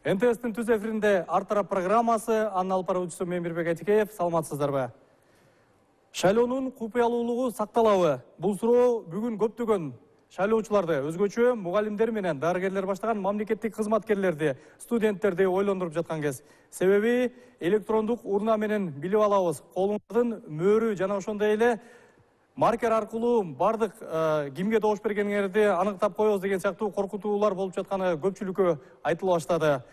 НТС'тин түз эфиринде Ар тарап программасы, анын алып баруучусу мен Мирбек Айтикеев. Саламатсыздарбы? Шайлоонун купуялуулугу сакталабы? Бул суроо бүгүн көптөгөн шайлоочуларды, өзгөчө мугалимдер менен дарыгерлер баштаган мамлекеттик кызматкерлерди, студенттерди ойлондуруп жаткан кез. Себеби электрондук урна менен билип алабыз. Колуңуздун мөөрү жана ошондой эле маркер аркылуу бардык кимге добуш бергениңерди аныктап коебуз деген сыяктуу коркутуулар болуп жатканы көпчүлүккө айтыла баштады.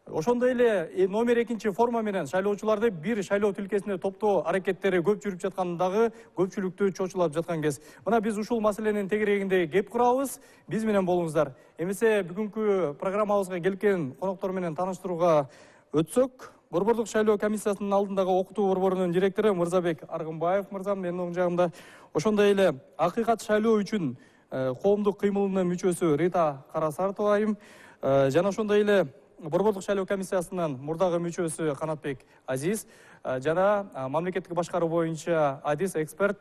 Ошондой эле номер 2 форма менен шайлоочуларды бир шайлоо тилкесине топтоо аракеттери көп жүрүп жатканы дагы көпчүлүктү чочулап жаткан кез. Мына биз ушул маселенин тегерегинде кеп курабыз. Биз менен болуңуздар. Эмесе бүгүнкү программабызга келген коноктор менен тааныштырууга өтсөк, Борбордук шайлоо комиссиясынын алдындагы окутуу борборунун директору Мырзабек Аргынбаев мырзам менин оң жагымда. Ошондой эле акыйкат шайлоо үчүн коомдук кыймылынын мүчөсү Рита Карасартова айым жана ошондой эле Борбордук шайлоо комиссиясынын мурдагы мүчөсү Канатбек Азиз жана мамлекеттик башкаруу боюнча адис эксперт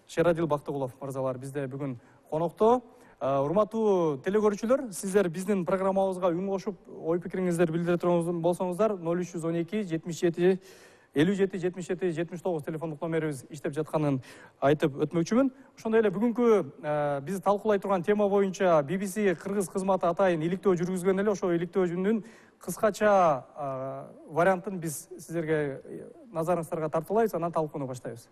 Шерадил Бактыгулов мырзалар бизде бүгүн конокто. Урматтуу телекөрүүчүлөр, сиздер биздин программабызга үн кошуп, ой пикириңиздерди билдире турган болсоңуздар 0312 77 57 77 79 телефондук номерибиз иштеп жатканын айтып өтмөкчүмүн. Ошондой эле бүгүнкү биз талкуулай турган тема боюнча BBC кыргыз кызматы атайын иликтөө жүргүзгөн эле, ошол иликтөөнүн кыскача вариантын биз сиздерге назарыңыздарга тартуулайбыз, анан талкууну баштайбыз.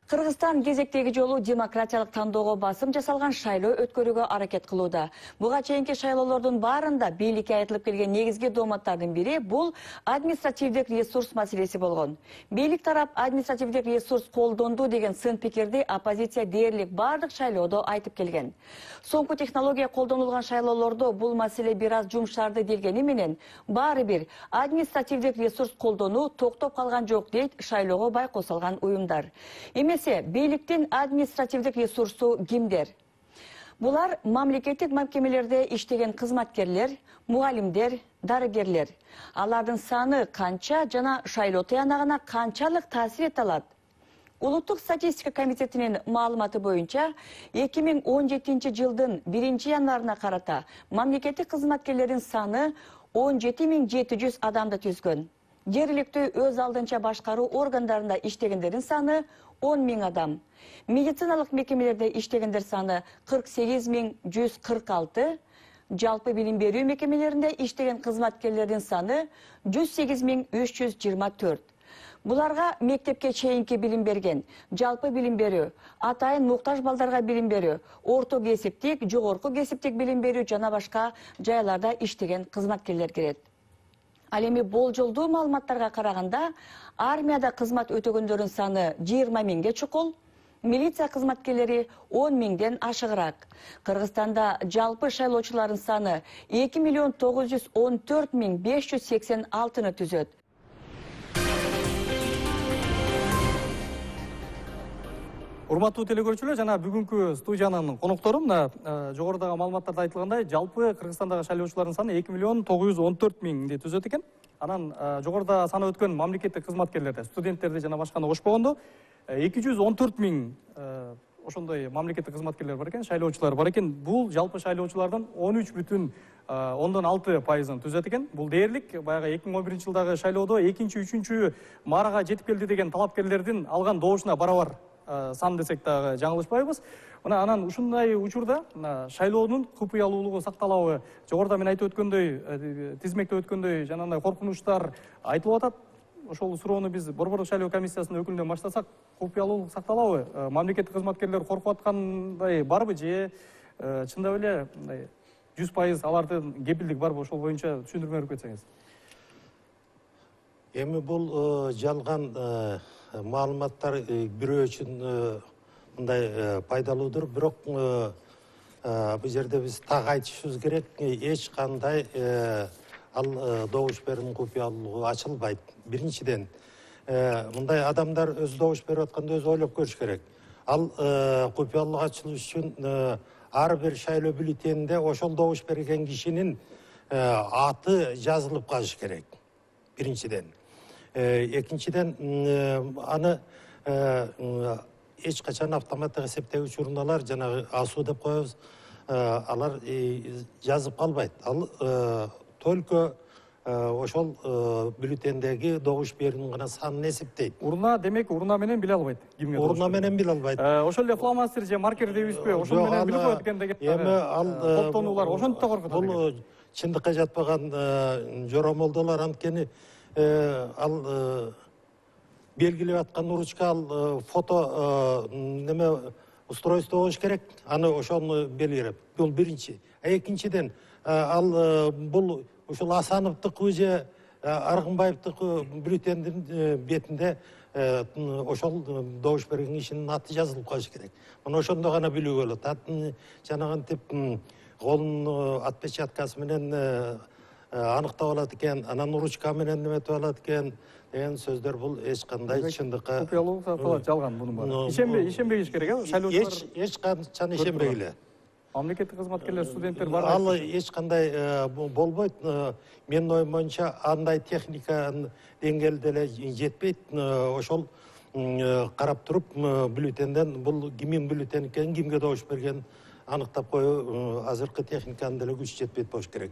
Кыргызстан кезектеги жолу демократиялык тандоого басым жасалган шайлоо өткөрүүгө аракет кылууда. Буга чейинки шайлоолордун баарында бийликке айтылып келген негизги дооматтардын бири бул административдик ресурс маселеси болгон. Бийлик тарап административдик ресурс колдонду деген сын пикирди оппозиция дээрлик бардык шайлоодо айтып келген. Соңку технология колдонулган шайлоолордо бул маселе бир аз жумшарды делгени менен, баары бир административдик ресурс колдонуу токтоп калган жок дейт шайлоого байкоо салган уюмдар. Бийликтин административдик ресурсу кимдер? Булар мамлекеттик мекемелерде иштеген кызматкерлер, мугалимдер, дарыгерлер. Алардын саны канча жана шайлоо тыянагына канчалык таасир эте алат? Улуттук статистика комитетинин маалыматы боюнча 2017 жылдын 1-январына карата мамлекеттик кызматкерлердин саны 17700 адамды түзгөн. Жергиликтүү өз алдынча башкаруу органдарында иштегендердин саны 10.000 адам. Медициналык мекемелерде иштегендер саны 48146, жалпы билим берүү мекемелеринде иштеген кызматкерлердин саны 108324. Буларга мектепке чейинки билим берген, жалпы билим берүү, атайын муктаж балдарга билим берүү, орто кесиптик, жогорку кесиптик билим берүү жана башка жайларда иштеген кызматкерлер кирет. Ал эми болжолдуу маалыматтарга караганда, армияда кызмат өтөгөндөрдүн саны 20.000ге чукул, милиция кызматкерлери 10.000ден ашыгыраак. Кыргызстанда жалпы шайлоочулардын саны 2.914.586-ны түзөт. Урматтуу телекөрүүчүлөр, жана бүгүнкү студиянын коноктору мына жогорудагы маалыматтарда айтылгандай, жалпы Кыргызстандагы шайлоочулардын саны 2.914.000ди түзөт экен. Анан жогоруда саны өткөн мамлекеттик кызматкерлерди, студенттерди жана башканы кошпогондо 214.000 ошондой мамлекеттик кызматкерлер бар экен, шайлоочулар бар экен. Бул жалпы шайлоочулардын 13,6%-ын түзөт экен. Бул дээрлик баягы 2011 жылдагы шайлоодо 2-3 маарага жетип келди деген талапкерлердин алган добушуна барабар сан десек дагы жаңылышпайбыз. Мына анан ушундай учурда шайлоонун купуялуулугу сакталабы? Жогоруда мен айтып өткөндөй, тизмекте өткөндөй жанагындай коркунучтар айтылып атат. Ошол суроону биз Борбордук шайлоо комиссиясынын өкүлүнөн баштасак, купуялуулук сакталабы? Мамлекеттик кызматкерлер коркуп аткандай барбы же чындап эле мындай 100% алардын кепилдик барбы? Ошол боюнча түшүндүрмө берип кетсеңиз. Эми бул жалган маалыматтар бирөө үчүн мындай пайдалуудур, бирок бул жерде биз так айтышыбыз керек, эч кандай ал добуш берүүнүн купуялуулугу ачылбайт. Биринчиден, мындай адамдар өз добуш берип атканда өзү ойлоп көрүш керек. Ал купуялуулук ачылыш үчүн ар бир шайлоо бюллетенинде ошол добуш берген кишинин аты жазылып калыш керек. Биринчиден. Экинчиден, аны эч качан автоматтык эсептегич урналар, жанагы АСУ деп коебуз, алар жазып калбайт. Ал только ошол бюллетендеги добуш берүүнүн гана санын эсептейт. Урна, демек, урна менен биле албайт кимге добуш Урна менен биле албайт. Ошол эле фломастер же маркер дейбизби? Ошол менен билип коет экен деген коптонуулар ошентип да коркутат. Бул чындыкка жатпаган жоромолдолор, анткени ал белгилеп аткан ручка, ал фото неме устройство болуш керек, аны ошону белгилеп. Бул биринчи. Экинчиден, ал бул ушул Асановдук же Аргынбаевдук бюллетендин бетинде ошол добуш берген кишинин аты жазылып калыш керек. Мына ошондо гана билүүгө болот. Жанагынтип колунун отпечаткасы менен аныктап алат экен, анан ручка менен неметип алат экен деген сөздөр бул эч кандай чындыкка купуялуу жалган мунун баары. Ишенбегиш керек, шайлоочулар эч качан ишенбегиле. Мамлекеттик кызматкерлер, студенттер бар. Ал эч кандай болбойт. Менин оюм боюнча андай техника деңгээлде эле жетпейт. Ошол карап туруп бюллетенден бул кимдин бюллетени экенин, кимге добуш бергенин аныктап коюу азыркы техниканын деле күчү жетпейт болуш керек.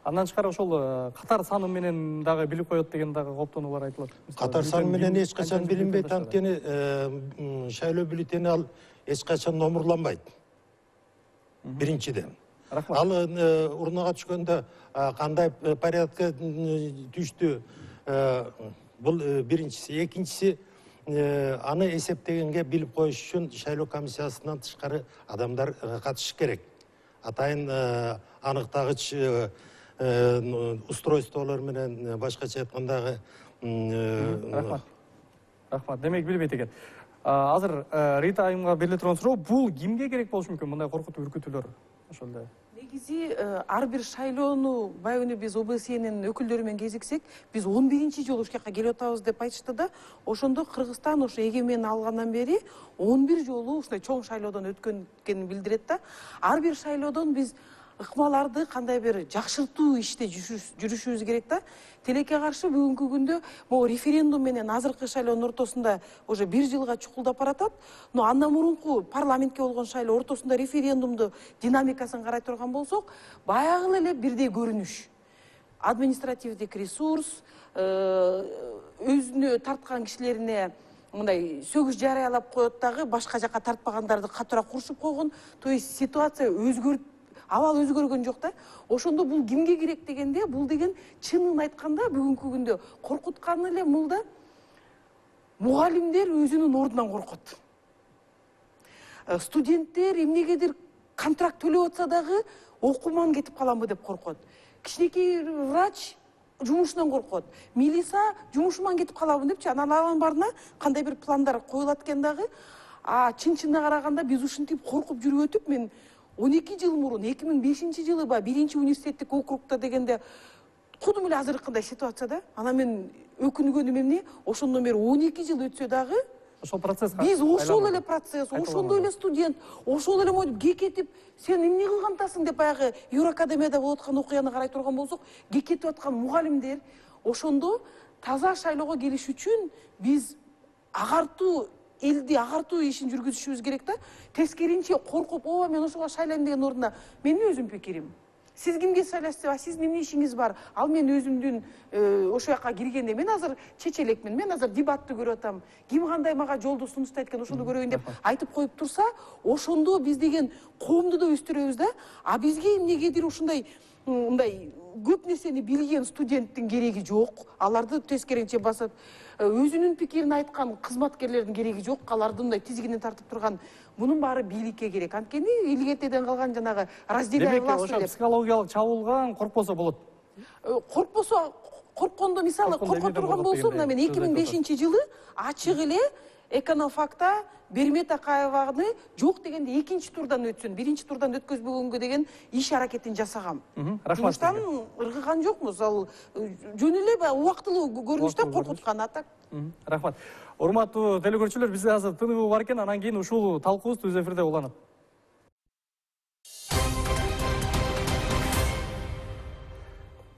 Андан тышкары ошол катар саны менен дагы билип коет деген дагы коптонуулар айтылат. Катар саны менен эч качан билинбейт, анткени шайлоо бюллетени ал эч качан номурланбайт. Биринчиден. Ал урнага түшкөндө кандай порядка түштү, бул биринчиси. Экинчиси, аны эсептегенге билип коюш үчүн шайлоо комиссиясынан тышкары адамдар катышыш керек. Атайын аныктагыч устройстволор менен, башкача айткандагы. Рахмат. Демек билбейт экен. Азыр Рита айымга бериле турган суроо, бул кимге керек болушу мүмкүн, мындай коркутуу үркүтүүлөр ошол эле? Негизи ар бир шайлоону баягы биз ОБСЕнин өкүлдөрү менен кезиксек, биз 11-чи жолу ушул жака келип атабыз деп айтышты да, ошондо Кыргызстан ошо эгемендик алгандан бери 11 жолу ушундай чоң шайлоодон өткөнүн билдирет да. Ар бир шайлоодон биз ыкмаларды кандай бир жакшыртуу иште жүрүшүбүз керек да. Тилекке каршы бүгүнкү күндө могу референдум менен азыркы шайлоонун ортосунда уже 1 жылга чукулдап баратат. Но андан мурунку парламентке болгон шайлоо ортосунда референдумду динамикасын карай турган болсок, баягы эле бирдей көрүнүш. Административдик ресурс, өзүнө тарткан кишилерине мындай сөгүш жарыялап коет дагы, башка жака тартпагандарды катуура курушуп койгон. То есть ситуация абал өзгөргөн жок да. Ошондо бул кимге керек дегенде, бул деген чынын айтканда бүгүнкү күндө коркутканы эле бул да мугалимдер өзүнүн ордунан коркот. Студенттер эмнегедир контракт төлөп атса дагы окуман кетип каламбы деп коркот. Кичинекей врач жумушунан коркот. Милиса жумушуман кетип калабын депчи, анан барына кандай бир пландар коюлат экен дагы. Чын-чынына караганда биз ушинтип коркуп жүрүп өтүп, мен 12 жыл мурун 2005 жылы 1-чи университеттик округта дегенде кудум эле азыркындай ситуацияда. Анан мен өкүнгөнүм эмне? Ошондон бери 12 жыл өтсө дагы ошол процесс биз ошол эле процесс, ошондой эле студент, ошол эле мойтуп кекетип, сен эмне кылгантасың деп баягы Евроакадемияда болуп аткан окуяны карай турган болсок, кекетип аткан мугалимдер ошондо таза шайлоого келиш үчүн биз элди агартуу ишин жүргүзүшүбүз керек да. Тескеринче коркуп, мен ошого шайлайм деген ордуна менин өзүм пикирим. Сиз кимге шайлайсыз? Сиздин эмне ишиңиз бар? Ал мен өзүмдүн ошол жака киргенде мен азыр чечелекмин, мен азыр дебатты көрүп атам. Ким кандай мага жолду сунуштайт экен, ошону көрөйүн деп айтып коюп турса, ошондо биз деген коомду да өстүрөбүз да. Бизге эмнегедир ушундай мындай көп нерсени билген студенттин кереги жок. Аларды тескеринче басып, өзүнүн пикирин айткан кызматкерлердин кереги жок. Аларды мындай тизигинен тартып турган, мунун баары бийликке керек. Анткени илгертеден калган жанагы разделяй власть деп. Психологиялык чабуулган коркпосо болот. Корккондо мисалы корко турган болсо, мына мен 2005 жылы ачык эле Эконофакта Бермет Акаеваны жок дегенде 2-чи турдан өтсүн, 1-чи турдан өткөзбөгөнгө деген иш аракетин жасагам. Жумуштан ыргыган жокмуз. Ал жөн эле убактылуу көрүнүш да, коркуткан атак. Рахмат. Урматтуу телекөрүүчүлөр, бизде азыр тынуу бар экен, анан кийин ушул талкуубуз түз эфирде уланат.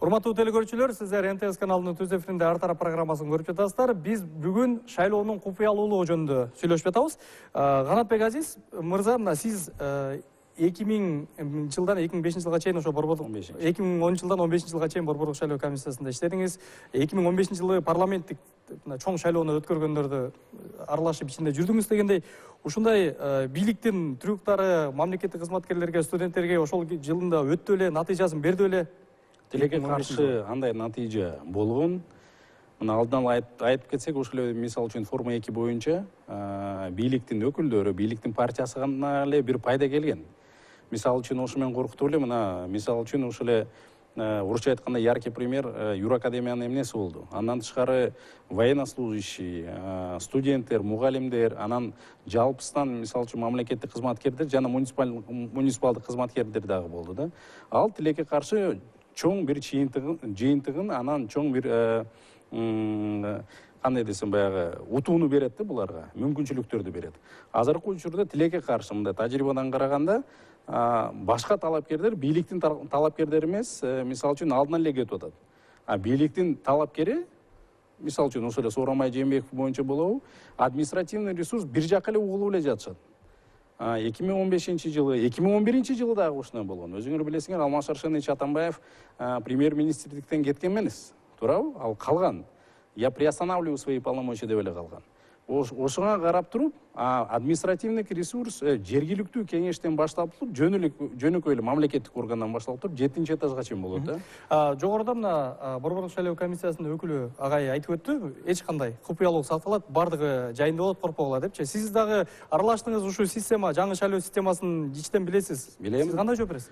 Урматтуу телекөрүүчүлөр, сиздер НТС каналынын түз эфиринде ар тарап программасын көрүп жатасыздар. Биз бүгүн шайлоонун купуялуулугу жөнүндө сүйлөшүп жатабыз. Канатбек Азиз мырза, мына сиз 2000 жылдан 2005 жылга чейин ошо Борбордук 2010 жылдан 15 жылга чейин Борбордук шайлоо комиссиясында иштедиңиз. 2015 жылы парламенттик чоң шайлоону өткөргөндөрдү аралашып ичинде жүрдүңүз дегендей, ушундай бийликтин трюктары мамлекеттик кызматкерлерге, студенттерге ошол жылында өттү эле, натыйжасын берди эле. Тилекке каршы андай натыйжа болгон. Мына алдынан айтып кетсек, ошол эле мисалы үчүн форма 2 боюнча бийликтин өкүлдөрү, бийликтин партиясы гана эле бир пайда келген. Мисалы үчүн ошо менен коркутуп эле, мына мисалы үчүн ошол эле орусча айтканда яркий пример Юракадемиянын эмнеси болду. Андан тышкары военнослужащий, студенттер, мугалимдер, анан жалпысынан мисалы үчүн мамлекеттик кызматкерлер жана муниципалдык кызматкерлер дагы болду да. Ал тилекке каршы чоң бир жыйынтыгын, анан чоң бир кандай десем баягы утууну берет да буларга, мүмкүнчүлүктөрдү берет. Азыркы учурда тилекке каршы мындай тажрыйбадан караганда башка талапкерлер бийликтин талапкерлери эмес, мисалы үчүн алдынан эле кетип атат. Бийликтин талапкери, мисалы үчүн ошол эле Сооронбай Жээнбеков боюнча болобу, административный ресурс бир жака эле угулуп эле жатышат. 2015 жылы, 2011 жылы дагы ушундай болгон. Өзүңөр билесиңер, Алмаз Шаршенович Атамбаев премьер-министрликтен кеткен эмес, туурабы? Ал калган. Я приостанавливаю свои полномочия деп эле калган. Ошоңа карап туруп, административный ресурс жергиликтүү кеңештен башталып туруп, жөнөкөй эле мамлекеттик органдан башталып туруп, 7-этажга чейин болот да. Жогоруда мына Борбордук шайлоо комиссиясынын өкүлү агай айтып өттү, эч кандай купуялуулук сакталат, бардыгы жайында болот, коркпогула депчи. Сиз дагы аралаштыңыз ушул система, жаңы шайлоо системасын ичтен билесиз. Билем. Сиз кандай жооп бересиз?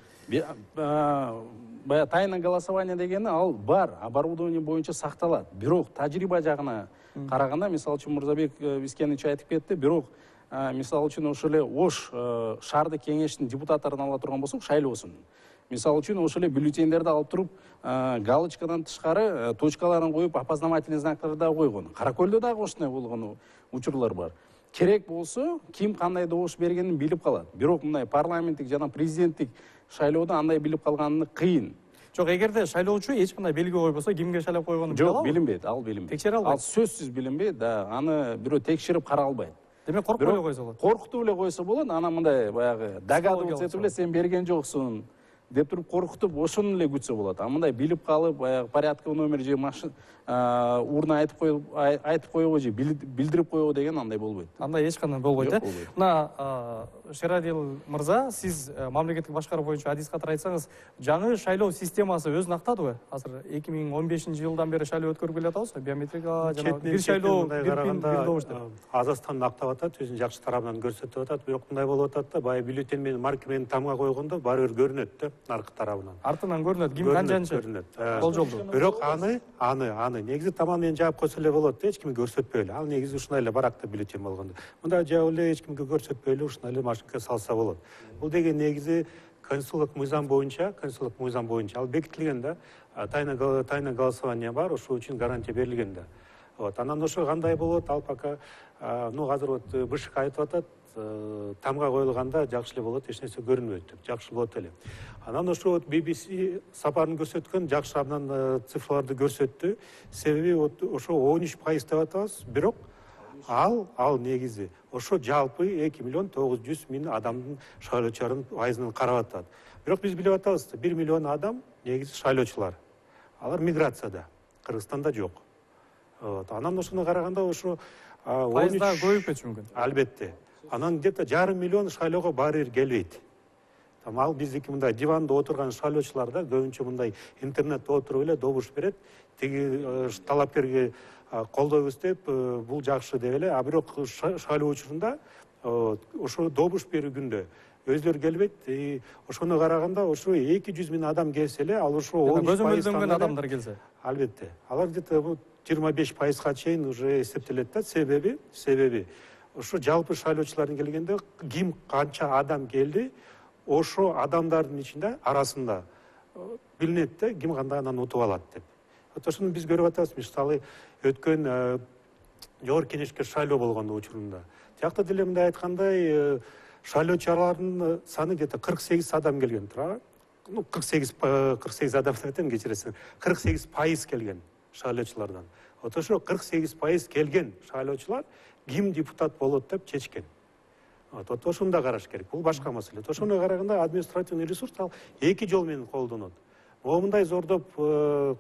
Бая тайное голосование дегени ал бар, оборудование боюнча сакталат. Бирок тажрыйба жагына караганда, мисалы үчүн Мырзабек Бискенович айтып кетти, бирок мисалы үчүн ошол эле Ош шаардык кеңештин депутаттарын ала турган болсок, шайлоосун. Мисалы үчүн ошол эле бюллетендерди алып туруп, галочкадан тышкары точкаларын коюп, опознавательный знактарды да койгон. Кара Көлдө дагы ошондой болгон учурлар бар. Керек болсо, ким кандай добуш бергенин билип калат. Бирок мындай парламенттик жана президенттик шайлоодо андай билип калганы кыйын. Жок, эгерде шайлоочу эч кандай белги койбосо, кимге шайлап койгонун биле алабы? Жок, билинбейт, ал билинбейт. Текшере албайт. Ал сөзсүз билинбейт, да, аны бирөө текшерип кара албайт. Демек коркпой эле койсо болот. Коркутуп эле койсо болот, анан мындай баягы догадываться этип эле сен берген жоксуң деп туруп коркутуп, ошону эле күтсө болот. А мындай билип калып, баягы порядковый номер же машина урна айтып коебу же билдирип коебу деген андай болбойт. Андай эч кандай болбойт, Жок, э? болбойт. Мына Шерадил мырза, сиз мамлекеттик башкаруу боюнча адис катар айтсаңыз, жаңы шайлоо системасы өзүн актадыбы? Азыр 2015 жылдан бери шайлоо өткөрүп келе жатабыз, биометрика жана бир шайлоо, бир пин, бир добуш деп. Азастан актап атат, өзүнүн жакшы тарабынан көрсөтүп атат, бирок мындай болуп атат да, баягы бюллетень менен марка менен тамга койгондо баары бир көрүнөт да, наркы тарабынан. Артынан көрүнөт, ким канчанчы болжолду. Бирок аны негизи таман менен жаап койсо эле болот да, эч кимге көрсөтпөй эле. Ал негизи ушундай эле баракта бюллетень болгондо. Мындай жаап эле эч кимге көрсөтпөй эле ушундай эле машинкага салса болот. Бул деген негизи конституциялык мыйзам боюнча ал бекитилген да. Тайное голосование бар, ошол үчүн гарантия берилген да. Вот, анан ошо кандай болот, ал пока азыр вот БШК айтып атат, тамга коюлганда жакшы эле болот, эч нерсе көрүнбөйт деп, жакшы болот эле. Анан ошо вот BBC сапарын көрсөткөн жакшы абдан цифрларды көрсөттү. Себеби вот ошо 13% деп атабыз, бирок ал негизи ошо жалпы 2 миллион 900 000 адамдын шайлоочулардын пайызын карап атат. Бирок биз билип атабыз, 1 миллион адам негизи шайлоочулар. Алар миграцияда, Кыргызстанда жок. Анан ошону караганда ошо пайызда көбөйүп кетиши мүмкүн. Албетте. Анан где-то 5,5 миллион шайлоого баары бир келбейт. Ал биздики мындай диванда отурган шайлоочулар да көбүнчө мындай интернетте отуруп эле добуш берет. Тиги талапкерге колдоо көздөп, бул жакшы деп эле. А бирок шайлоо учурунда ошо добуш берүү күндө өзлөрү келбейт. Ошону караганда ошо 200 000 адам келсе эле, ал ошо 13% көзөмөлдөнгөн адамдар келсе. Албетте. Алар где-то 25%га чейин уже эсептелет да. Себеби ошо жалпы шайлоочулардын келгенде ким канча адам келди, ошо адамдардын ичинде арасында билинет да, ким кандай анан утуп алат деп. Ошону биз көрүп атабыз. Мисалы өткөн жогорку кеңешке шайлоо болгон учурунда. Тиякта деле мындай айткандай, шайлоочулардын саны где-то 48 адам келген, туурабы? 48 адам деп айтам, кечиресиң, 48% келген шайлоочулардан. Вот ошо 48% келген шайлоочулар ким депутат болот деп чечкен. Вот ошону да караш керек. Бул башка маселе. Ошону караганда административный ресурс ал 2 жол менен колдонот. Момундай зордоп,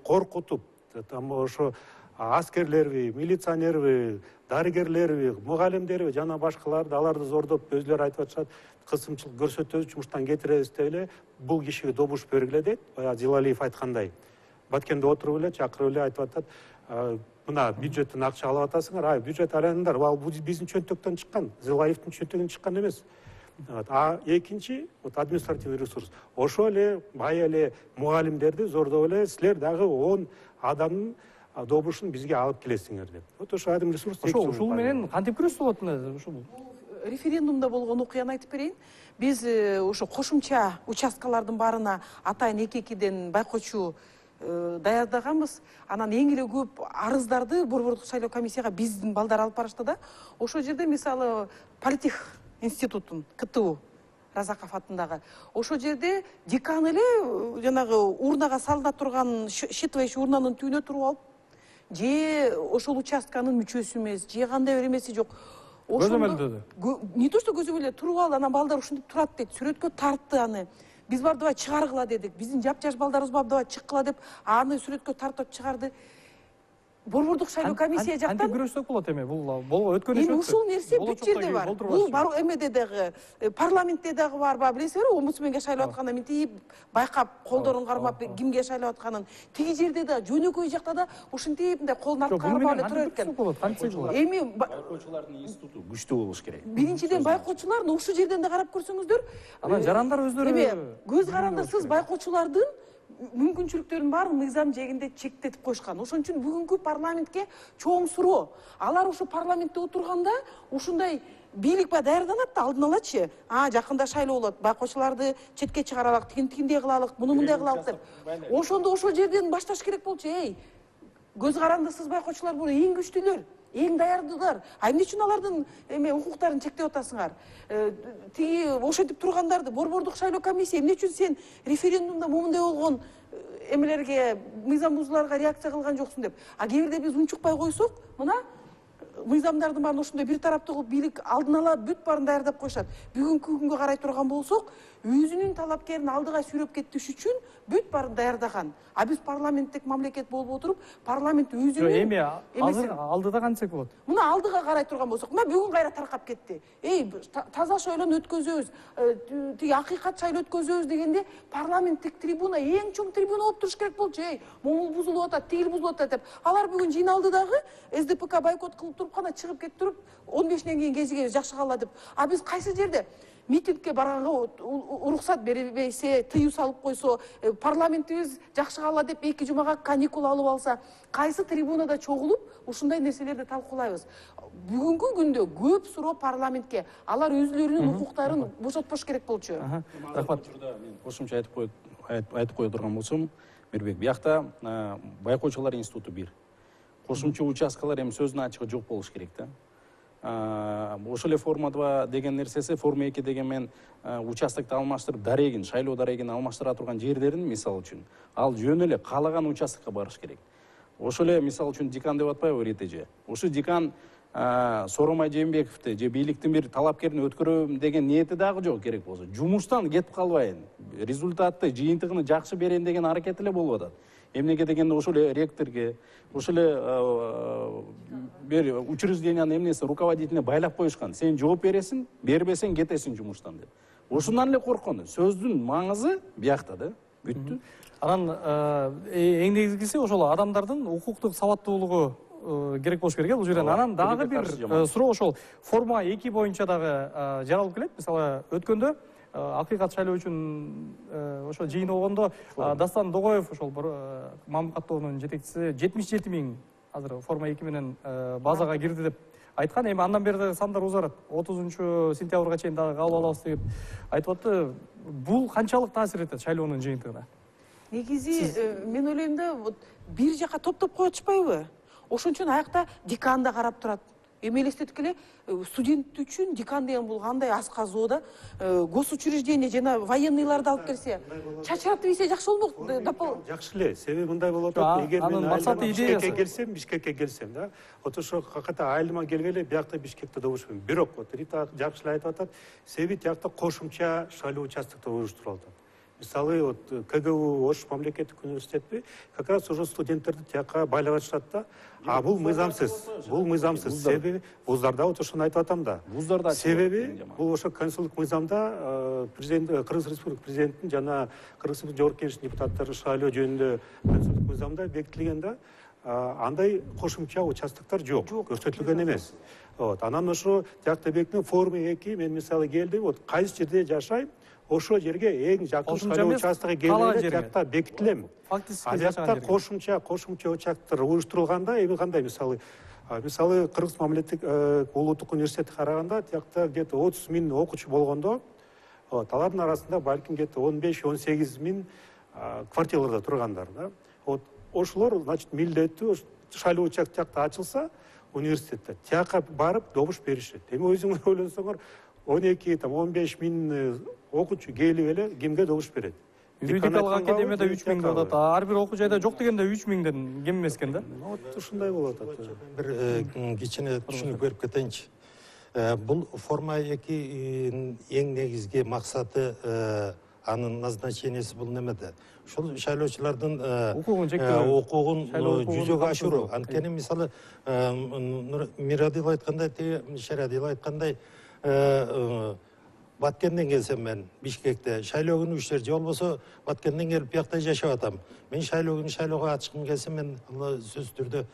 коркутуп, там ошо аскерлерби, милиционерби, дарыгерлерби, мугалимдерби жана башкаларды, аларды зордоп өзүлөрү айтып атышат, кысымчылык көрсөтөбүз, жумуштан кетиребиз деп эле бул кишиге добуш бергиле дейт. Баягы Дилалиев айткандай. Баткенде отуруп эле, чакырып эле айтып атат, мына бюджеттен акча алып атасыңар, бюджет алаңдар, ал биздин чөнтөктөн чыккан, Дилалиевдин чөнтөгүнөн чыккан эмес. А экинчи, административный ресурс. Ошо эле бай эле мугалимдерди зордоп эле силер дагы 10 адамдын добушун бизге алып келесиңер деп. Вот ошо адым ресурс. Ошол менен кантип күрөшүп болот мына ушул? Референдумда болгон окуяны айтып берейин. Биз ошо кошумча участкалардын баарына атайын эки-экиден байкоочу даярдаганбыз. Анан эң эле көп арыздарды Борбордук шайлоо комиссияга биздин балдар алып барышты да. Ошол жерде мисалы Политех институтун КТУ Разаков атындагы. Ошол жерде декан эле жанагы урнага салына турган считывающий урнанын түбүнө туруп алып, же ошол участканын мүчөсү эмес, же кандай бир эмеси жок. Көзөмөлдөдү. Не то что көзөмөлдө туруп алды, анан балдар ушинтип турат дейт, сүрөткө тартты аны. Биз бар давай чыгаргыла дедик. Биздин жапжаш балдарыбыз бар давай чыккыла деп, аны сүрөткө тартып чыгарды. Борбордук шайлоо комиссия жактан кантип күрөшсөк болот эми? Бул өткөн эми ушул нерсе бүт жерде бар. Бул бар эмеде дагы, парламентте дагы бар, билесиңерби, омбудсменге шайлап атканда мынтип байкап, колдорун кармап кимге шайлап атканын. Тиги жерде да, жөнөкөй жакта да ушинтип мындай колун аткарып алып тура экен. Эми байкоочулардын институту күчтүү болуш керек. Биринчиден байкоочулар ушул жерден да карап көрсөңүздөр, анан жарандар өздөрү эми көз карандысыз байкоочулардын мүмкүнчүлүктөрүн баарын мыйзам жээгинде чектетип коюшкан. Ошон үчүн бүгүнкү парламентке чоң суроо. Алар ушу парламентте отурганда ушундай бийлик ба даярданат да алдын алачы. Жакында шайлоо болот, байкоочуларды четке чыгаралык, тигиндей кылалык, муну мындай кылалык деп. Ошондо ошол жерден башташ керек болчу. Көз карандысыз байкоочулар бул эң күчтүүлөр, эң даярдуулар. Эмне үчүн алардын укуктарын чектеп атасыңар? Тиги ошентип тургандарды Борбордук шайлоо комиссия эмне үчүн сен референдумда момундай болгон эмелерге, мыйзам бузууларга реакция кылган жоксуң деп. Кээ бирде биз унчукпай койсок, мына мыйзамдардын баарын ошондой бир тараптуу кылып бийлик алдын ала бүт баарын даярдап коюшат. Бүгүнкү күнгө карай турган болсок, өзүнүн талапкерин алдыга сүйрөп кетиш үчүн бүт баарын даярдаган. Биз парламенттик мамлекет болуп отуруп, парламент өзүнүн эми азыр алдыда кантсек болот? Мына алдыга карай турган болсок, мына бүгүн кайра таркап кетти. Таза шайлоону өткөзөбүз, тиги акыйкат шайлоо өткөзөбүз дегенде парламенттик трибуна эң чоң трибуна болуп туруш керек болчу. Могул бузулуп атат, тигил бузулуп атат деп. Алар бүгүн жыйналды дагы СДПК бойкот кылып туруп кана чыгып кетип туруп 15-ден кийин кезиге жакшы калла деп. Биз кайсы жерде митингке барганга уруксат бербейсе, тыюу салып койсо, парламентибиз жакшы калла деп 2 жумага каникул алып алса, кайсы трибунада чогулуп ушундай нерселерди талкуулайбыз. Бүгүнкү күндө көп суроо парламентке. Алар өзүлөрүнүн укуктарын бошотпош керек болчу. Рахмат. Мен кошумча айтып кое турган болсом, Мирбек, биякта байкоочулар институту бир. Кошумча участкалар эми сөзүнүн ачыгы жок болуш керек да. Ошол эле форма 2 деген нерсеси, форма 2 деген мен участокты алмаштырып, дарегин, шайлоо дарегин алмаштыра турган жерлерин, мисалы үчүн, ал жөн эле каалаган участокко барыш керек. Ошол эле мисалы үчүн декан деп атпайбы Ритеже? Ушу декан Соромай Жээнбековду же бийликтин бир талапкерин өткөрөм деген ниети дагы жок керек болсо. Жумуштан кетип калбайын, результатты, жыйынтыгын жакшы берейин деген аракет эле болуп атат. Эмнеге дегенде ошол эле ректорге, ошол эле бир учреждениянын эмнеси руководителине байлап коюшкан. Сен жооп бересиң, бербесең кетесиң жумуштан деп. Ошондан эле корккон. Сөздүн маңызы биякта да. Бүттү. Анан эң негизгиси ошол адамдардын укуктук сабаттуулугу керек болуш керек бул жерден. Анан дагы бир суроо ошол форма 2 боюнча дагы жаралып келет. Мисалы өткөндө акыйкат шайлоо үчүн ошо жыйын болгондо Дастан Догоев ошол Мамыт каттоонун жетекчиси 77 000 азыр форма 2 менен базага кирди деп айткан. Эми андан бери дагы сандар узарат. 30-сентябрга чейин дагы кабыл алабыз деп айтып атты. Бул канчалык таасир этет шайлоонун жыйынтыгына? Негизи мен ойлойм да, бир жака топтоп коюп атышпайбы? Ошон үчүн аякта декан да карап турат. эми элестетип эле студент үчүн декан деген бул кандай асказуу да, госучреждение жана военныйларды алып келсе чачыратып ийсе жакшы болмок. Жакшы эле, себеби мындай болуп атат, эгер мен идеясы Бишкекке келсем да, вот ошо каката айылыма келгеле биякта Бишкекте добуш менен. Бирок вот Рита жакшы эле айтып атат, себеби тиякта кошумча шайлоо участоктор уюштурулуп атат. Мисалы, вот КГУ Ош мамлекеттик университети как раз уже студенттерди тияка байлап атышат да. А бул мыйзамсыз. Себеби вуздарда вот ошону айтып атам да. Вуздарда себеби бул ошо консулдук мыйзамда президент Кыргыз Республика президентин жана Кыргыз Республика Жогорку Кеңешинин депутаттары шайлоо жөнүндө консулдук мыйзамда бекитилген да. Андай кошумча участоктор жок, көрсөтүлгөн эмес. Вот, анан ошо тиякта бекитилген форма 2 мен мисалы келдим, вот кайсы жерде жашайм, ошо жерге эң жакын шайлоо участогу келгенде тиякта бекитилем. Аяқта кошумча участоктор уюштурулганда эми кандай мисалы Кыргыз мамлекеттик улуттук университетти караганда тиякта где-то 30 миң окуучу болгондо, вот алардын арасында балким где-то 15-18 миң квартираларда тургандар да. Вот ошолор, значит, милдеттүү шайлоо участок тиякта ачылса университетте тияка барып добуш беришет. Эми өзүңөр ойлонсоңор 12-15 миң окуучу келип эле кимге добуш берет? Юридикалык академияда 3 миң деп атат. Ар бир окуу жайда жок дегенде 3 миңден кем эмес экен да. Вот ушундай болуп атат. Бир кичине түшүнүп берип кетейинчи. Бул форма 2 эң негизги максаты, анын назначениясы бул немеде? Ушул шайлоочулардын укугун жүзөгө ашыруу. Анткени мисалы Мирадил айткандай, Шерадил айткандай, Баткенден келсем мен Бишкекте шайлоо күнү иштер же болбосо Баткенден келип биякта жашап атам. Мен шайлоо күнү шайлоого ачкым келсе мен сөзсүз түрдө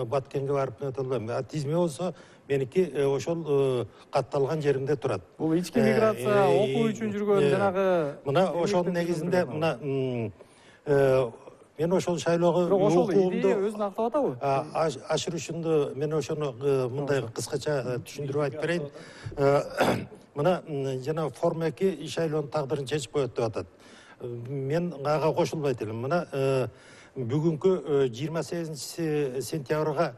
Баткенге барып өтөлөм. Тизме болсо меники ошол катталган жеримде турат. Бул ички миграция, окуу үчүн жүргөн жанагы мына ошонун негизинде мына мен ошол шайлоого укугумду өзүн актап атабы? Ашырышымды мен ошону мындай кыскача түшүндүрүп айтып берейин. Мына жана форма 2 шайлоонун тагдырын чечип коет деп атат. Мен ага кошулбайт элем. Мына бүгүнкү 28 сентябрга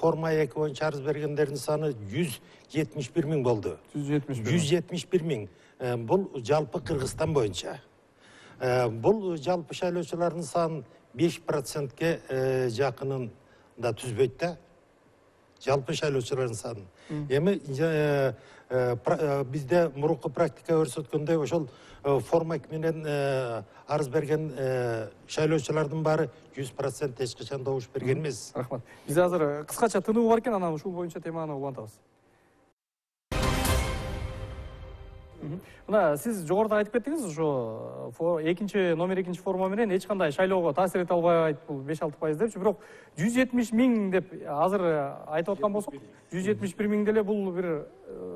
форма 2 боюнча арыз бергендердин саны 171 миң болду. 171 миң. Бул жалпы Кыргызстан боюнча. Бул жалпы шайлоочулардын санын 5%ке жакынын да түзбөйт да. Жалпы шайлоочулардын санын. Эми бизде мурунку практика көрсөткөндөй ошол форма 2 менен арыз берген шайлоочулардын баары 100% эч качан добуш берген эмес. Рахмат. Бизде азыр кыскача тынуу бар экен, анан ушул боюнча теманы улантабыз. Мына сиз жогоруда айтып кеттиңиз, ошо номер 2 форма менен эч кандай шайлоого таасир эте албайт, бул 5-6% депчи, бирок 170 миң деп азыр айтып аткан болсок, 171 миң деле бул бир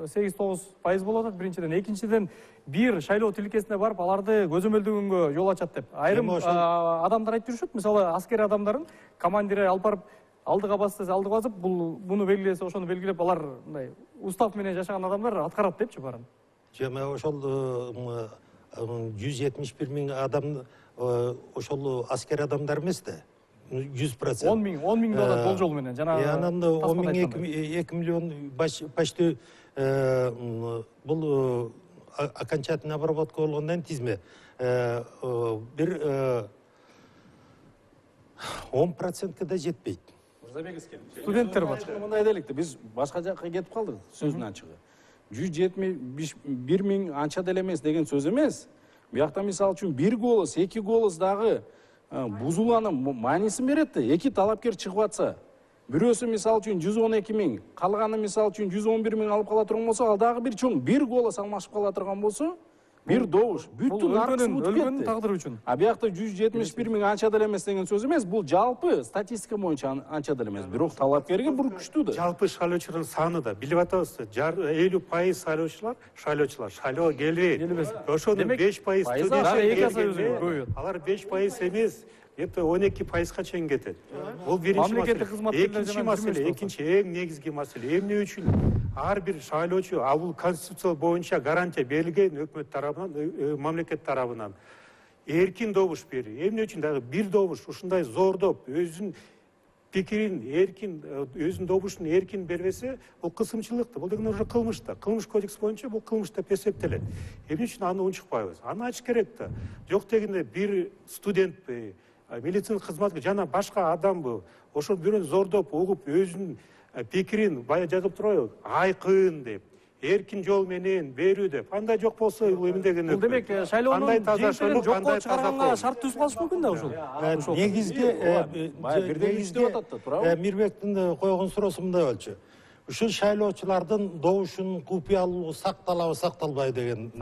8-9% болуп атат биринчиден. Экинчиден бир шайлоо тилкесине барып аларды көзөмөлдөгөнгө жол ачат деп. Айрым адамдар айтып жүрүшөт, мисалы аскер адамдарын командири алып барып алдыга басса алдыга басып, буну белгилесе ошону белгилеп, алар мындай устав менен жашаган адамдар аткарат депчи баарын. Жана ошол 171 миң адам ошол аскер адамдар эмес да. 100%. 10 миң доллар болжол менен жана. Анан 10 миң 2 миллион почти бул окончательный обработка болгондон тизме бир 10%ке да жетпейт. Студенттер бар. Мындай деликти, биз башка жакка кетип калдык сөздүн ачыгы. 171 миң анча деле эмес деген сөз эмес. Биякта мисалы үчүн 1 голос, 2 голос дагы бузулуунун маанисин берет да. 2 талапкер чыгып атса, бирөөсү мисалы үчүн 112 миң, калганы мисалы үчүн 111 миң алып кала турган болсо, ал дагы бир чоң 1 голос алмашып кала турган болсо, бир добуш, бүттүн аркысы бутуп кетти. Тагдыры үчүн. А биякта 171 миң анча деле эмес деген сөз эмес, бул жалпы статистика боюнча анча деле эмес. Бирок талапкерге бур күчтүү да. Жалпы шайлоочулардын саны да билип атабыз. 50% шайлоочулар шайлоого келбейт. Ошонун 5% студент. Алар 5% эмес, где-то 12%га чейин кетет. Бул биринчи маселе. Экинчи маселе, эң негизги маселе эмне үчүн ар бир шайлоочу, а бул конституция боюнча гарантия берилген өкмөт тарабынан, мамлекет тарабынан эркин добуш берүү. Эмне үчүн дагы бир добуш ушундай зордоп, өзүн пикирин эркин, өзүнүн добушун эркин бербесе, бул кысымчылык да, бул деген уже кылмыш да. Кылмыш кодекс боюнча бул кылмыш деп эсептелет. Эмне үчүн аны унчукпайбыз? Аны ачыш керек да. Жок дегенде бир студентпи, медицина кызматкер жана башка адамбы, ошол бирөөнү зордоп, угуп, өзүнүн пикирин баягы жазып турбайбы? Айкын деп, эркин жол менен берүү деп. Андай жок болсо, эмне Бул демек шайлоонун жыйынтыгын жокко чыгарганга шарт түзүп калыш мүмкүн да ушул. Негизги Мирбектин койгон суроосу мындай болчу. Ушул шайлоочулардын добушунун купуялуулугу сакталабы, сакталбайбы деген.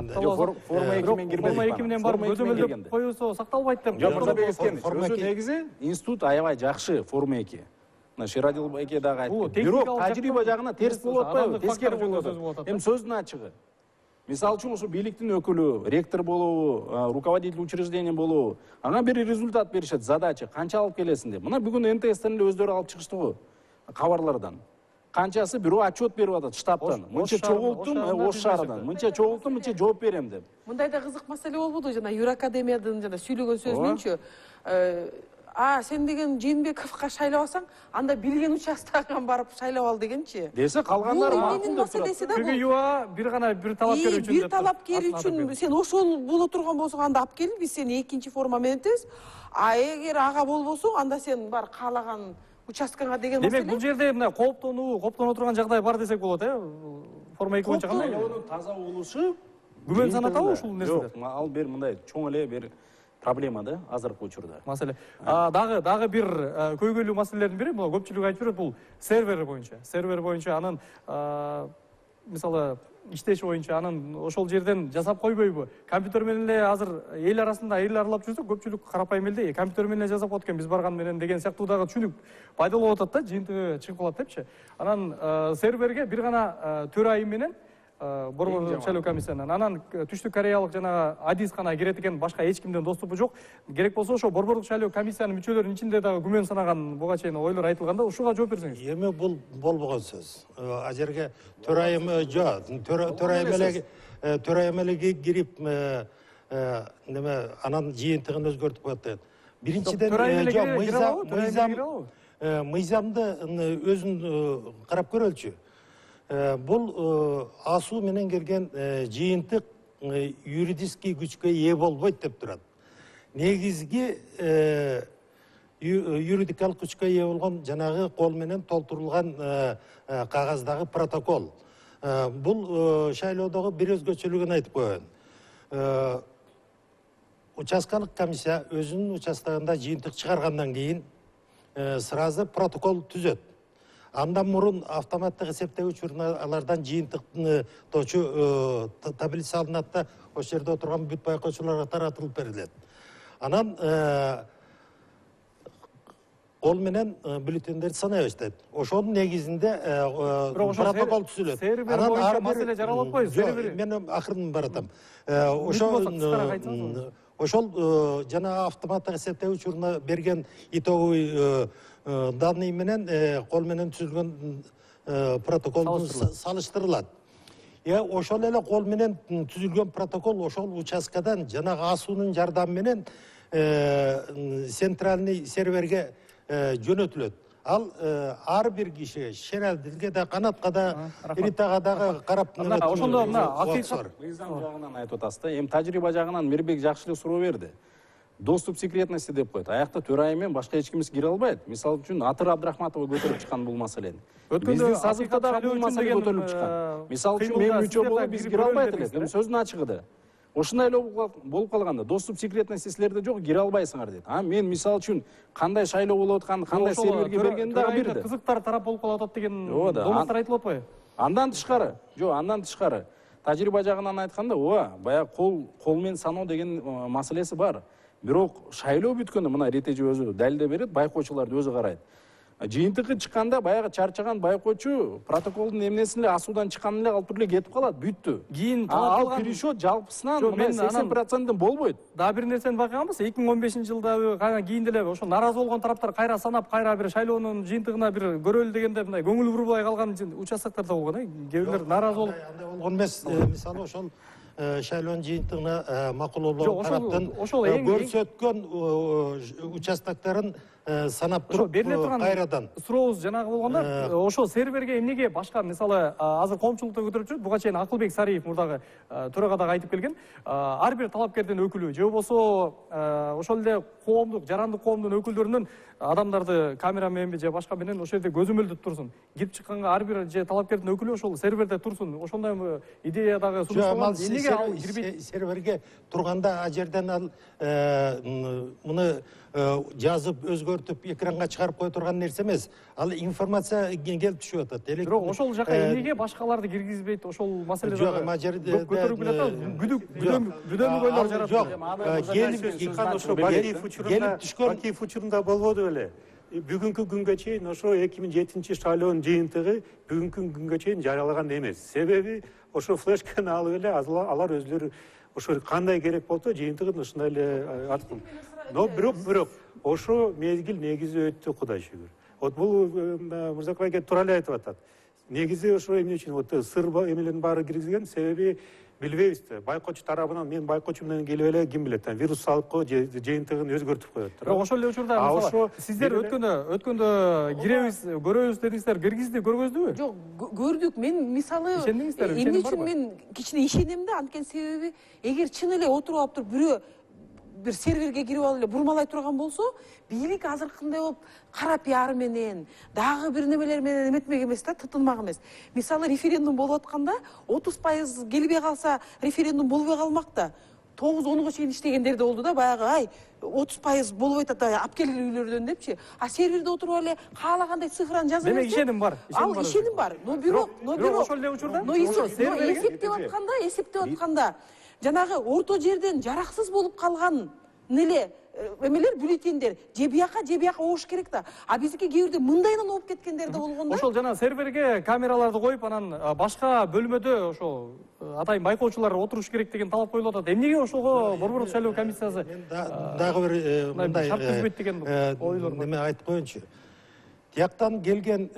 Форма 2 менен кирбедик. Форма 2 менен барып көзөмөлдөп коюусу сакталбайт деп. Жок, Мырзабек Эскенович, өзү негизи институт аябай жакшы форма 2. Шерадил эке дагы айтты. Бирок тажрыйба жагынан терс болуп атпайбы? Тескери болуп атат. Эми сөздүн ачыгы. Мисалы үчүн ошо бийликтин өкүлү, ректор болобу, руководитель учреждения болобу, ага бир результат беришет, задача, канча алып келесиң деп. Мына бүгүн НТСтен эле өздөрү алып чыгышты го кабарлардан. Канчасы бирөө отчет берип атат штабтан. Мынча чогулттум, Ош шаарынан. Мынча чогулттум, мынча жооп берем деп. Мындай да кызык маселе болбоду жана Юракадемиядын жана сүйлөгөн сөзүнүнчү. Сен деген Жээнбековго шайлабасаң, анда билген участогуңан барып шайлап ал дегенчи. Десе калгандары макул деп турат. Бүгүн юа бир гана бир талапкер үчүн деп. Бир талапкер үчүн сен ошол боло турган болсоң, анда алып кел, биз сени экинчи форма менен өтөбүз. Эгер ага болбосоң, анда сен бар каалаган участкаңа деген маселе. Демек бул жерде мына кооптоно турган жагдай бар десек болот, Форма 2 боюнча кандай? Шайлоонун таза болушу күмөн санатабы ушул нерседе? Жок, ал бир мындай чоң эле бир проблема да азыркы учурда. Маселе. Дагы бир көйгөйлүү маселелердин бири, бул көпчүлүк айтып жүрөт, бул сервер боюнча. Сервер боюнча анын мисалы иштеши боюнча анын ошол жерден жасап койбойбу? Компьютер менен эле азыр эл арасында эл аралап жүрсөк, көпчүлүк карапайым элде компьютер менен эле жасап коет экен, биз барган менен деген сыяктуу дагы түшүнүк пайда болуп атат да, жыйынтыгы чыгып калат депчи. Анан серверге бир гана төрайым менен Борбор шайлоо комиссиянын, анан Түштүк Кореялык жана Адис гана кирет экен, башка эч кимдин доступу жок. Керек болсо ошо Борборлук шайлоо комиссиянын мүчөлөрүнүн ичинде дагы күмөн санаган буга чейин ойлор айтылганда, ушуга жооп берсеңиз. Эми бул болбогон сөз. А жерге төрайым жок, төрайым эле кирип неме анан жыйынтыгын өзгөртүп коет деген. Биринчиден мыйзамды өзүн карап көрөлчү. Бул асуу менен келген жыйынтык юридический күчкө ээ болбойт деп турат. Негизги юридикалык күчкө ээ болгон жанагы кол менен толтурулган кагаздагы протокол. Бул шайлоодогу бир өзгөчөлүгүн айтып коеюн. Участкалык комиссия өзүнүн участогунда жыйынтык чыгаргандан кийин сразу протокол түзөт. Андан мурун автоматтык эсептегич урналардан жыйынтыкточу таблица алынат да, ошол жерде отурган бүт байкоочуларга таратылып берилет. Анан кол менен бюллетендерди санай баштайт. Ошонун негизинде протокол түзүлөт. Анан ар маселе жаралып атпайбы? Мен акырын баратам. Ошол жана автоматтык эсептегич урна берген итоговый данный менен кол менен түзүлгөн протокол салыштырылат. Ошол эле кол менен түзүлгөн протокол ошол участкадан жанагы асуунун жардамы менен центральный серверге жөнөтүлөт. Ал ар бир киши Шералдилге да, Канатка да, Ритага дагы карап ошондо мына акыйкат мыйзам жагынан айтып атасыз да. Эми тажрыйба жагынан Мирбек жакшы эле суроо берди. Доступ секретности деп коет. Аякта төрайым менен башка эч кимиси кире албайт. Мисалы үчүн Атыр Абдрахматова көтөрүп чыккан бул маселени. Биздин сазыкта дагы бул маселе көтөрүлүп чыккан. Мисалы үчүн мен мүчө болуп биз кире албайт элек. Эми сөздүн ачыгы да. Ошондой эле болуп калганда доступ секретности силерде жок, кире албайсыңар дейт. Мен мисалы үчүн кандай шайлоо болуп атканын, кандай серверге бергенин дагы бирди. Кызыктар тарап болуп калып атат деген доматтар айтылып атпайбы? Андан тышкары, тажрыйба жагынан айтканда, баягы кол менен саноо деген маселеси бар. Бирок шайлоо бүткөндө мына Ретежи өзү далилдеп берет, байкоочуларды өзү карайт. Жыйынтыгы чыкканда баягы чарчаган байкоочу протоколдун эмнесин эле асуудан чыкканын эле алып туруп эле кетип калат, бүттү. Кийин ал пересчет жалпысынан 80%ден болбойт. Дагы бир нерсени байкаганбыз, 2015-жылда кийин деле ошо нааразы болгон тараптар кайра санап, кайра бир шайлоонун жыйынтыгына бир көрөлү дегенде мындай көңүл бурбай калган участоктор да болгон, кээ бирлер нааразы болуп. Андай болгон эмес, мисалы ошол шайлоонун жыйынтыгына макулоолор тараптан көрсөткөн участокторун санап ошо туруп бериле турган кайрадан сурообуз жанагы болгондо ошол серверге эмнеге башка мисалы азыр коомчулукта көтөрүп жүрөт, буга чейин Акылбек Сариев мурдагы төрага дагы айтып келген, ар бир талапкердин өкүлү же болбосо ошол эле коомдук жарандык коомдун өкүлдөрүнөн адамдарды камера мененби же башка менен ошол жерде көзөмөлдөп турсун, кирип чыкканга ар бир же талапкердин өкүлү ошол серверде турсун, ошондой идея дагы сунушталган. Эмнеге ал кирбейт? серверге турганда ал жерден ал муну жазып өзгөртүп экранга чыгарып кое турган нерсе эмес, ал информация келип түшүп атат. Бирок ошол жака эмнеге башкаларды киргизбейт, ошол маселе жок, ама жерде көтөрүп келатат, бүдөмүгөйлөр жаратып Бакиев учурунда болбоду беле. Бүгүнкү күнгө чейин ошо 2007 шайлоонун жыйынтыгы бүгүнкү күнгө чейин жарыялаган эмес. Себеби ошо флешканы алып эле алар өзүлөрү ошо кандай керек болсо жыйынтыгын ушундай эле аткан. Но бирок ошо мезгил негизи өттү, Кудай шүгүр. Вот бул Мырзакбай аке туура эле айтып атат. Негизи ошо эмне үчүн вот сыр эмелердин баары киргизилген, себеби билбейбиз да. Байкоочу тарабынан мен байкоочу менен келип эле ким билет, вирус салып же жыйынтыгын өзгөртүп коет. Бирок ошол эле учурда мисалы сиздер өткөндө киребиз, көрөбүз дедиңиздер, киргизди, көргөздүбү? Жок, көрдүк. Мен мисалы эмне үчүн мен кичине ишенем да, анткени себеби эгер чын эле отуруп алып туруп бирөө бир серверге кирип алып эле бурмалай турган болсо, бийлик азыркындай болуп кара пиар менен, дагы бир немелер менен эметмек эмес да, тытынмак эмес. Мисалы референдум болуп атканда 30% келбей калса референдум болбой калмак да. 9-10га чейин иштегендер да болду да, баягы ай 30% болбой атат, алып келгил үйлөрдөн депчи. А серверде отуруп эле каалагандай цифраны жазып Демек ишеним бар. Ал ишеним бар. Но бирок ошол эле учурда эсептеп атканда жанагы орто жерден жараксыз болуп калган неле эмелер, бюллетендер же бияка обуш керек да. А биздики кээ бирде мындайынан оп кеткендер да болгон да. Ошол жана серверге камераларды коюп, анан башка бөлмөдө ошол атайын байкоочулар отуруш керек деген талап коюлуп атат. Эмнеге ошого Борбордук шайлоо комиссиясы дагы бир мындай шарт түзбөйт деген ойлор бар. Неме айтып коеюнчу. Тияктан келген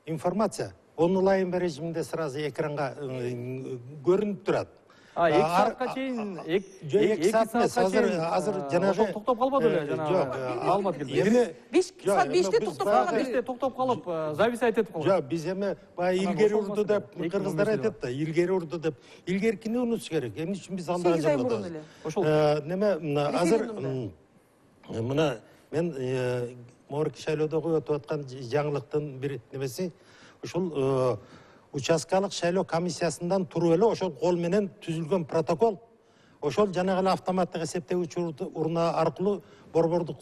информация онлайн режиминде сразу экранга көрүнүп турат. 2 саатка чейин 2 саат эмес, азыр жанагы токтоп калбады эле жанагы маалымат келди. 5 саат 5те токтоп калган. 5те токтоп калып, зависать этип калган. Жок, биз эми баягы илгери урду деп кыргыздар айтат да, илгери урду деп. Илгеркини унутуш керек. Эмне үчүн биз анда жазылдык? Ошол неме азыр мына мен морки шайлоодо өтүп аткан жаңылыктын бир немеси ушул участкалык шайлоо комиссиясынан туруп эле ошол кол менен түзүлгөн протокол, ошол жанагы эле автоматтык эсептегич урна аркылуу борбордук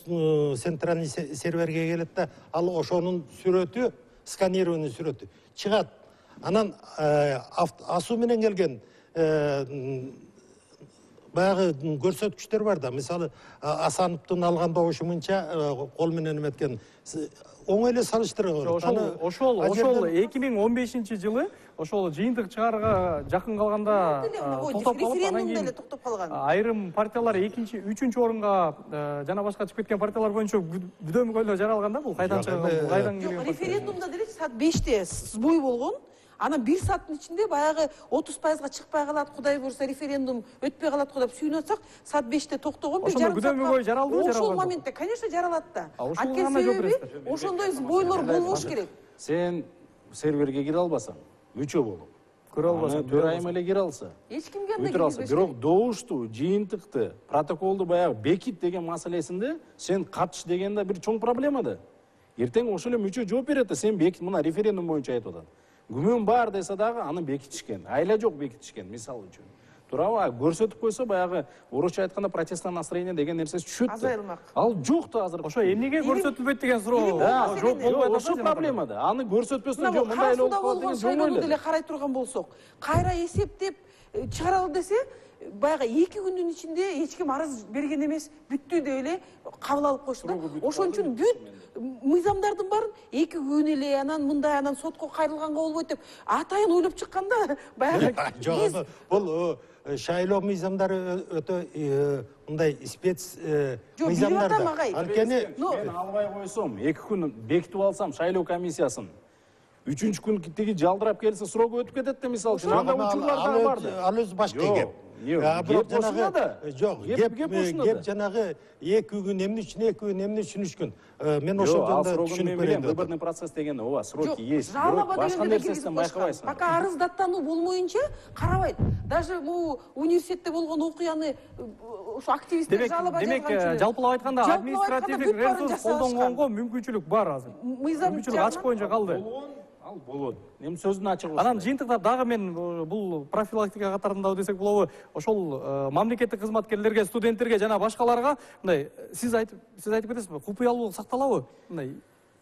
центральный серверге келет да, ал ошонун сүрөтү, сканированный сүрөтү чыгат. Анан асуу менен келген баягы көрсөткүчтөр бар да. Мисалы Асановдун алганда ошумунча кол менен эметкен оңой эле салыштыра болот. Ошол 2015-жылы ошол жыйынтык чыгарга жакын калганда токтоп калып, анан кийин токтоп калган. Айрым партиялар 2-, 3-чү орунга жана башка чыгып кеткен партиялар боюнча бүдөмүгөйлөр жаралган да. Бул кайдан чыгып, кайдан келген? Референдумда деле саат 5те сбой болгон. Анан 1 сааттын ичинде баягы 30%га чыкпай калат, Кудай буйрса референдум өтпөй калат го деп сүйүнүп атсак, саат 5те токтогон, 1 жарым саатка. Бүдөмүгөй жаралдыбы, жаралбадыбы? Ошол моментте, конечно, жаралат да. Анткени себеби ошондой сбойлор болбош керек. Сен серверге кире албасаң, мүчө болуп. Көрө албасаң, төрайым эле кире алса. Эч кимге андай кирбеш. Бирок добушту, жыйынтыкты, протоколду баягы бекит деген маселесинде сен катыш деген да бир чоң проблема да. Эртең ошол эле мүчө жооп берет да, сен бекит, мына референдум боюнча айтып атат. Күмөн бар десе дагы аны бекитишкен, айла жок бекитишкен, мисалы үчүн. Туурабы? Көрсөтүп койсо баягы орусча айтканда протестное настроение деген нерсеси түшөт. Азайылмак. Ал жок да азыр. Ошо эмнеге көрсөтүлбөйт деген суроо жооп болбой атат. Ошо проблема да. Аны көрсөтпөсөң жок, мындай эле болуп калат деген шайлоону деле карай турган болсок, кайра эсептеп чыгаралы десе, баягы 2 күндүн ичинде эч ким арыз берген эмес, бүттү деп эле кабыл алып койчу да. Ошон үчүн бүт мыйзамдардын баарын 2 күн эле, анан мындай, анан сотко кайрылганга болбойт деп атайын ойлоп чыкканда баягы жок, бул шайлоо мыйзамдары өтө мындай спец мыйзамдар да. Анткени мен албай койсом, 2 күн бекитип алсам шайлоо комиссиясын, 3-күн тиги жалдырап келсе срок өтүп кетет да, мисалы үчүн. Анда учурлар да бар да. Ал өзү башка кеп. Кеп ошондо да. Жок, Кеп ошондо кеп да. жанагы 2 күн эмне үчүн түшүнүшкүн. Мен ошол Ал жөнүндө срогун түшүнүп мен берейин билем, деп выборный процесс деген ооба, сроки есть. жалоба Башка дегенде да нерсесинен киргизип коюшкан. байкабайсың. Пока арыздаттануу болмоюнча карабайт. Даже бул университетте болгон окуяны ошо активисттер жалоба жазганчы. жалпылап айтканда Жалпылап административдик бүт баарын ресурс жасалышкан. колдонгонго мүмкүнчүлүк бар азыр. Мыйзам Мүмкүнчүлүк ачык боюнча калды. Ал болот. Эми сөздүн ачыгы. Анан жыйынтыктап дагы мен бул профилактика катарындабы десек болобу, ошол мамлекеттик кызматкерлерге, студенттерге жана башкаларга мындай сиз айтып кетесизби, купуялуулук сакталабы? Мындай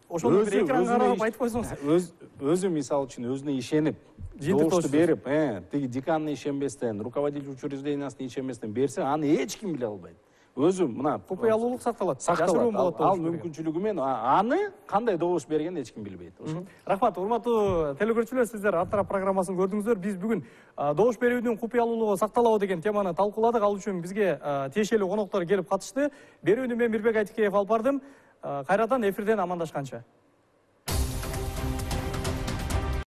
ошону бир экранга карап айтып койсоңуз. Өзү мисалы үчүн өзүнө ишенип, Жыйынтык добушту топчусуз. берип, тиги деканына ишенбестен, руководитель учреждениясына ишенбестен берсе, аны эч ким биле албайт. Өзү мына Купуялуулук сакталат. сакталат. Жашыруун болот. Ал мүмкүнчүлүгү менен аны кандай добуш бергенин эч ким билбейт. Рахмат, урматтуу телекөрүүчүлөр, сиздер Ар тарап программасын көрдүңүздөр. Биз бүгүн добуш берүүнүн купуялуулугу сакталабы деген теманы талкууладык. Ал үчүн бизге тиешелүү коноктор келип катышты. Берүүнү мен Мирбек Айтикеев алып бардым. Кайрадан эфирден амандашканча.